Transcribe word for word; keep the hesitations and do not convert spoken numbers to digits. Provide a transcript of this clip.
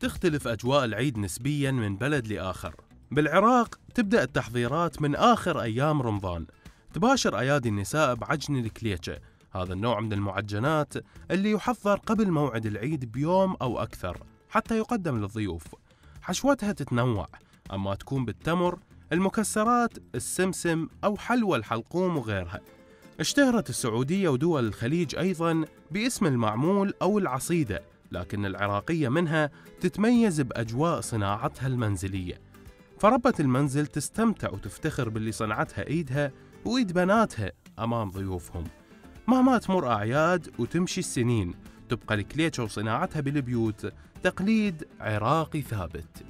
تختلف أجواء العيد نسبياً من بلد لآخر. بالعراق تبدأ التحضيرات من آخر أيام رمضان، تباشر أيادي النساء بعجن الكليتشة، هذا النوع من المعجنات اللي يحضر قبل موعد العيد بيوم أو أكثر حتى يقدم للضيوف. حشوتها تتنوع، أما تكون بالتمر، المكسرات، السمسم أو حلوى الحلقوم وغيرها. اشتهرت السعودية ودول الخليج أيضاً باسم المعمول أو العصيدة، لكن العراقية منها تتميز بأجواء صناعتها المنزلية، فربة المنزل تستمتع وتفتخر باللي صنعتها إيدها وإيد بناتها أمام ضيوفهم. مهما تمر أعياد وتمشي السنين، تبقى الكليتشة وصناعتها بالبيوت تقليد عراقي ثابت.